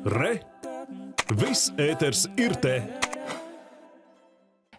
Re! Viss ēters ir te!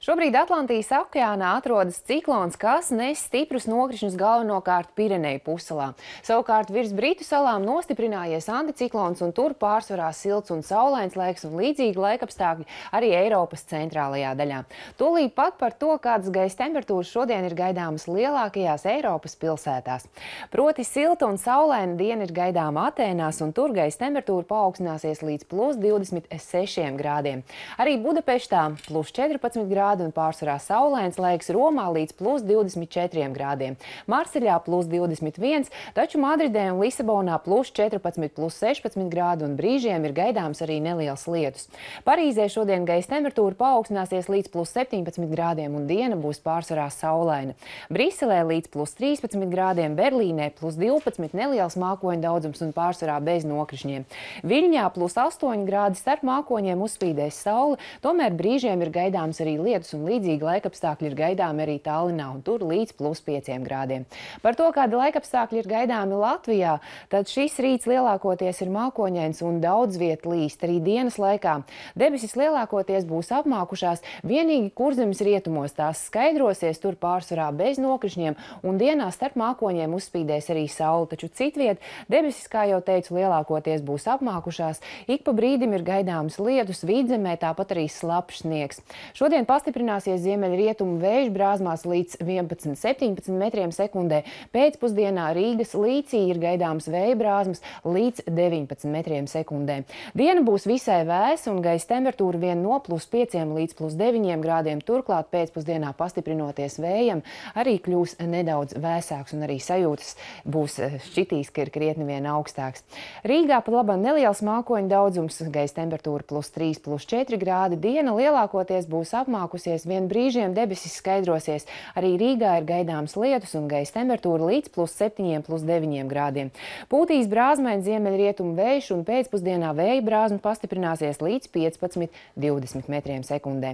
Šobrīd Atlantijas okeānā atrodas ciklons, kas nes stiprus nokrišņus galvenokārt Pireneju pussalā. Savukārt virs Britu salām nostiprinājies anticiklons, un tur pārsvarā silts un saulains laiks un līdzīgi laikapstākļi arī Eiropas centrālajā daļā. Tūlīt pat par to, kādas gaisa temperatūras šodien ir gaidāmas lielākajās Eiropas pilsētās. Proti silta un saulaina diena ir gaidāma Atēnās, un tur gaisa temperatūra paaugstināsies līdz +26 grādiem. Arī Budapeštā +14 grādi un pārsvarā saulains laiks, Romā līdz +24 grādiem. Marseļā +21, taču Madridē un Lisabonā +14, +16 grādi un brīžiem ir gaidāms arī neliels lietus. Parīzē šodien gaisa temperatūra paaugstināsies līdz +17 grādiem un diena būs pārsvarā saulaina. Briselē līdz +13 grādiem, Berlīnē +12, neliels mākoņu daudzums un pārsvarā bez nokrišņiem. Viļņā +8 grādi, starp mākoņiem uzspīdēs saule, tomēr brīžiem ir gaidāms arī lietus un līdzīgi laikapstākļi ir gaidāmi arī Tallinā, un tur līdz +5 grādiem. Par to, kādi laikapstākļi ir gaidāmi Latvijā, tad šis rīts lielākoties ir mākoņains un daudz viet līst arī dienas laikā. Debesis lielākoties būs apmākušās, vienīgi Kurzemes rietumos tās skaidrosies, tur pārsvarā bez nokrišņiem, un dienā starp mākoņiem uzspīdēs arī saule, taču citviet debesis, kā jau teicu, lielākoties būs apmākušās, ik pa brīdim ir gaidāms lietus, Vidzemē tāpat arī slapjš sniegs. Šodien pastiprināsies ziemeļrietumu vējš brāzmās līdz 11–17 metriem sekundē. Pēcpusdienā Rīgas līcī ir gaidāms vēja brāzmas līdz 19 metriem sekundē. Diena būs visai vēsa un gaisa temperatūra vien no +5 līdz +9 grādiem. Turklāt pēcpusdienā pastiprinoties vējam arī kļūs nedaudz vēsāks un arī sajūtas būs šķitīs, ka ir krietni vien augstāks. Rīgā pat labā neliels mākoņu daudzums, gaisa temperatūra +3, +4 grādi. Diena lielākoties būs apmākusies, vien brīžiem debesis skaidrosies. Arī Rīgā ir gaidāms lietus un gaisa temperatūra līdz +7, +9 grādiem. Pūtīs brāzmains ziemeļrietumu vējš un pēcpusdienā vēja brāzma pastiprināsies līdz 15–20 metriem sekundē.